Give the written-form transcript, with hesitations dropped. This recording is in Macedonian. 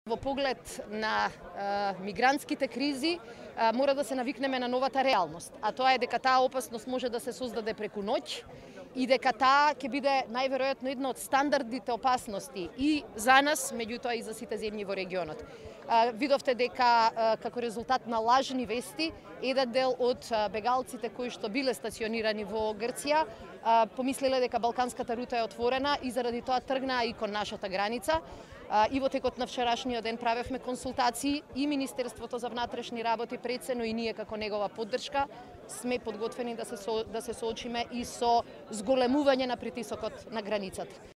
Во поглед на мигрантските кризи мора да се навикнеме на новата реалност, а тоа е дека таа опасност може да се создаде преку ноќ и дека таа ќе биде најверојатно една од стандардните опасности и за нас, меѓутоа и за сите земји во регионот. Видовте дека како резултат на лажни вести, еден дел од бегалците кои што биле стационирани во Грција помислеле дека балканската рута е отворена и заради тоа тргнаа и кон нашата граница. И во текот на вчерашниот ден правевме консултации и Министерството за внатрешни работи прецено и ние како негова поддршка сме подготвени да се соочиме и со зголемување на притисокот на границата.